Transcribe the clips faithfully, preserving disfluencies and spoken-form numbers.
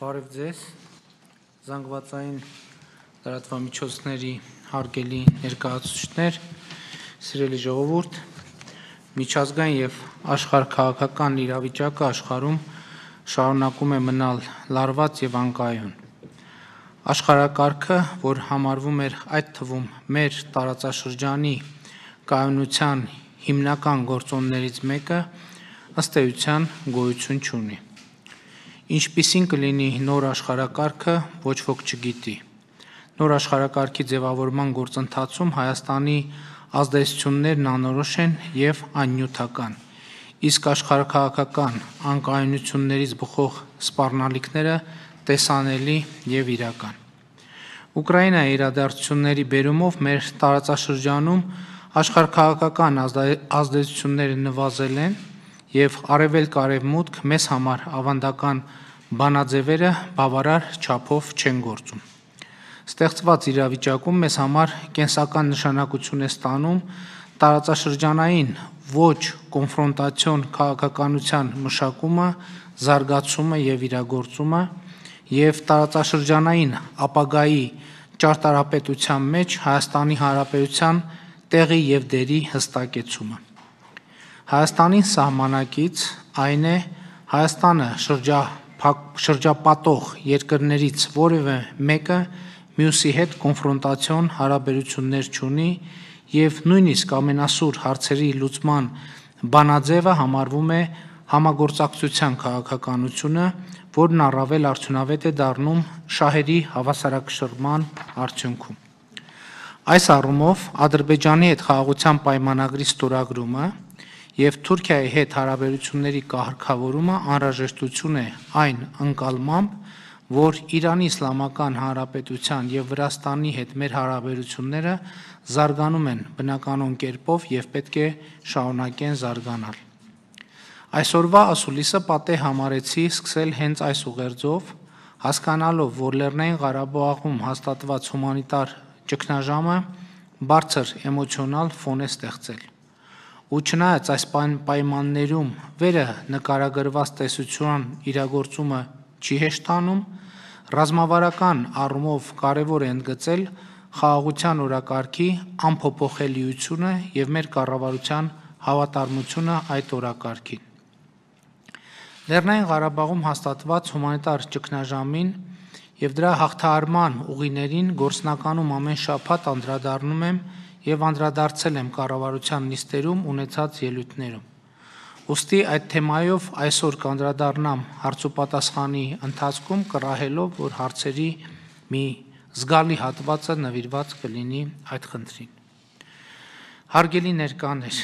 Բարև ձեզ, զանգվածային լրատվամիջոցների հարգելի ներկայացուցիչներ, սիրելի ժողովուրդ, միջազգային եւ աշխարհաքաղաքական իրավիճակը աշխարհում շարունակում է մնալ լարված եւ անկայուն։ Աշխարհակարգը, որ համարվում էր այդ թվում մեր տարածաշրջանի կայունության հիմնական գործոններից մեկը, ըստ էության գոյություն չունի։ Ինչպիսին կլինի նոր աշխարհակարգը, ոչ ոք չգիտի։ Նոր աշխարհակարգի ձևավորման գործընթացում Հայաստանի ազդեցություններն անորոշ են եւ աննյութական, իսկ աշխարհաքաղաքական անկայունություններից բխող սպառնալիքները տեսանելի եւ իրական։ Ուկրաինայի իրադարձությունների բերումով մեր տարածաշրջանում աշխարհաքաղաքական ազդեցությունները նվազել են եւ արևելք-արևմուտք մեզ համար ավանդական բանաձևերը բավարար չափով չեն գործում։ Ստեղծված իրավիճակում մեզ համար կենսական նշանակություն է ստանում տարածաշրջանային ոչ կոնֆրոնտացիոն քաղաքականության մշակումը, զարգացումը եւ իրագործումը եւ տարածաշրջանային ապագայի ճարտարապետության մեջ Հայաստանի Հանրապետության տեղի եւ դերի հստակեցումը։ Հայաստանին սահմանակից այն է Հայաստանը շրջապատող երկրներից որևէ մեկը մյուսի հետ կոնֆրոնտացիոն հարաբերություններ չունի եւ նույնիսկ ամենասուր հարցերի լուծման բանաձևը համարվում է համագործակցության քաղաքականությունը, որն առավել արդյունավետ է դառնում շահերի հավասարակշռման արդյունքում։ Այս առումով Ադրբեջանի հետ խաղաղության պայմանագրի ստորագրումը եւ Թուրքիայի հետ հարաբերությունների կարգավորումը անհրաժեշտություն է այն ընկալմամբ, որ Իրանի Իսլամական Հանրապետության եւ Վրաստանի հետ մեր հարաբերությունները զարգանում են բնականon կերպով եւ պետք է շարունակեն զարգանալ։ Այսօրվա ասուլիսը պատեհ համարեցի սկսել հենց այս ուղերձով, հասկանալով, որ Լեռնային Ղարաբաղում հաստատված հումանիտար ճգնաժամը բարձր էմոցիոնալ ֆոն է ստեղծել։ Ու չնայած այս պայմաններում վերը նկարագրված տեսության իրագործումը չի հեշտանում, ռազմավարական առումով կարևոր է ընդգծել խաղաղության օրակարգի անփոփոխելիությունը եւ մեր կառավարության հավատարմությունը այդ օրակարգին։ Լեռնային Ղարաբաղում հաստատված հումանիտար ճգնաժամին եւ դրա հաղթահարման ուղիներին գործնականում ամեն շաբաթ անդրադառնում եմ եւ անդրադարձել եմ կառավարության նիստերում ունեցած ելույթներում։ Ուստի այդ թեմայով այսօր կանդրադառնամ հարցուպատասխանի ընթացքում կռահելով, որ հարցերի մի զգալի հատվածը նվիրված կլինի այդ խնդրին։ Հարգելի ներկաներ,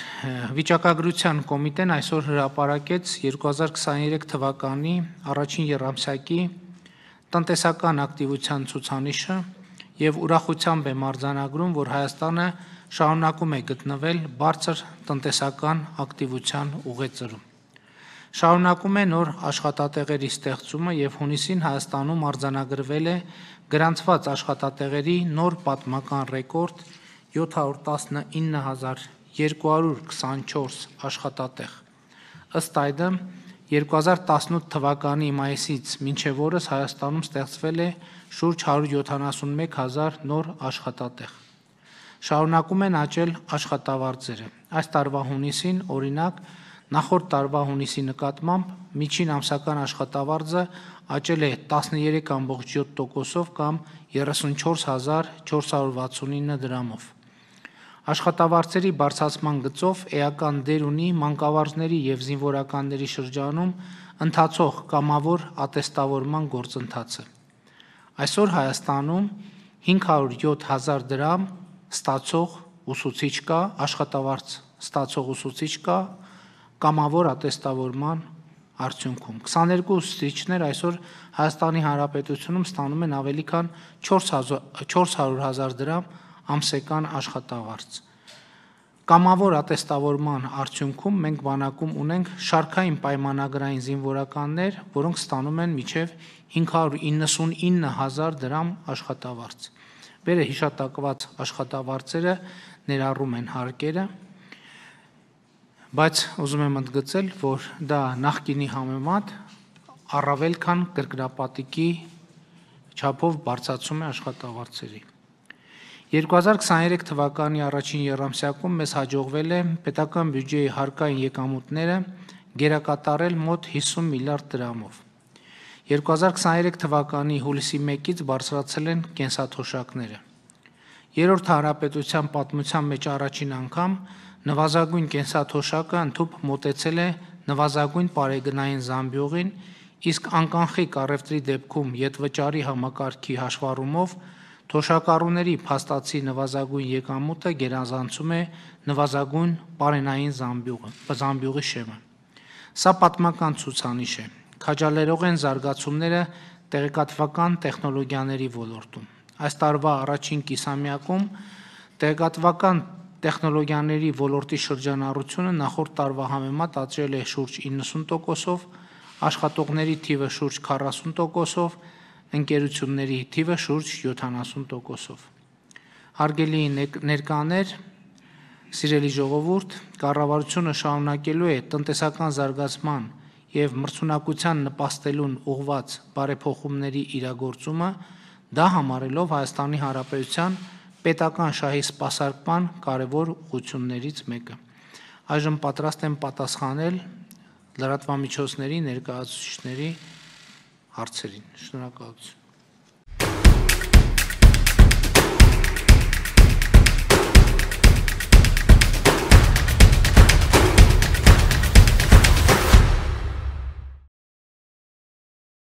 Վիճակագրության կոմիտեն այսօր հրապարակեց երկու հազար քսաներեք թվականի առաջին եռամսյակի տնտեսական ակտիվության ցուցանիշը եւ ուրախությամբ եմ արձանագրում, որ Հայաստանը շարունակում է գտնվել բարձր տնտեսական ակտիվության ուղեծրում։ Շարունակում է նոր աշխատատեղերի ստեղծումը եւ հունիսին Հայաստանում արձանագրվել է գրանցված աշխատատեղերի նոր պատմական ռեկորդ յոթ հարյուր տասնինը հազար երկու հարյուր քսանչորս աշխատատեղ։ Ըստ այդմ երկու հազար տասնութ թվականի մայիսից մինչև օրս Հայաստանում ստեղծվել է շուրջ հարյուր յոթանասունմեկ հազար նոր աշխատատեղ։ Շարունակում են աճել աշխատավարձերը։ Այս տարվա հունիսին, օրինակ, նախորդ տարվա հունիսի նկատմամբ միջին ամսական աշխատավարձը աճել է տասներեք կόμք յոթ տոկոսով կամ երեսունչորս հազար չորս հարյուր վաթսունինը դրամով։ Աշխատավարձերի բարձրացման գծով էական դեր ունի մանկավարժների եւ զինվորականների շրջանում ընթացող կամավոր ատեստավորման գործընթացը։ Այսօր Հայաստանում հինգ հարյուր յոթ հազար դրամ ստացող ուսուցիչ կա, աշխատավարձ ստացող ուսուցիչ կա կամավոր ատեստավորման արդյունքում։ քսաներկու ուսուցիչներ այսօր Հայաստանի Հանրապետությունում ստանում են ավելի քան չորս հարյուր հազար դրամ ամսական աշխատավարձ։ Կամավոր ատեստավորման արդյունքում մենք բանակում ունենք շարքային պայմանագրային զինվորականներ, որոնք ստանում են մինչև հինգ հարյուր իննսունինը հազար դրամ աշխատավարձ։ Վերը հիշատակված աշխատավարձերը ներառում են հարկերը, բայց ուզում եմ ընդգծել, որ դա նախկինի համեմատ առավել քան կրկնապատիկի չափով բարձրացում է աշխատավարձերի։ երկու հազար քսաներեք թվականի առաջին եռամսյակում մեզ հաջողվել է պետական բյուջեի հարկային եկամուտները գերակատարել մոտ հիսուն միլիարդ դրամով։ երկու հազար քսաներեք թվականի հուլիսի մեկից բարձրացել են կենսաթոշակները։ Երրորդ հանրապետության պատմության մեջ առաջին անգամ նվազագույն կենսաթոշակը ընդհուպ մոտեցել է նվազագույն պարեգնային զամբյուղին, իսկ անկանխիկ առևտրի դեպքում ետվճարի համակարգի հաշվառումով թոշակառուների փաստացի նվազագույն եկամուտը գերազանցում է նվազագույն պարենային զամբյուղի շեմը։ Սա պատմական ցուցանիշ է։ Քաջալերող են զարգացումները տեղեկատվական տեխնոլոգիաների ոլորտում։ Այս տարվա առաջին կիսամյակում տեղեկատվական տեխնոլոգիաների ոլորտի շրջանառությունը նախորդ տարվա համեմատ աճել է շուրջ իննսուն տոկոսով, աշխատողների թիվը շուրջ քառասուն տոկոսով, ընկերությունների թիվը շուրջ յոթանասուն տոկոսով։ Հարգելի ներկաներ, սիրելի ժողովուրդ, կառավարությունը շարունակելու է տնտեսական զարգացման և մրցունակության նպաստելուն ուղղված բարեփոխումների իրագործումը, դա համարելով Հայաստանի Հանրապետության պետական շահի սպասարկման կարևոր ուղղություններից մեկը։ Այժմ պատրաստ եմ պատասխանել լրատվամիջոցների ներկայացուցիչների հարցերին։ Շնորհակալություն։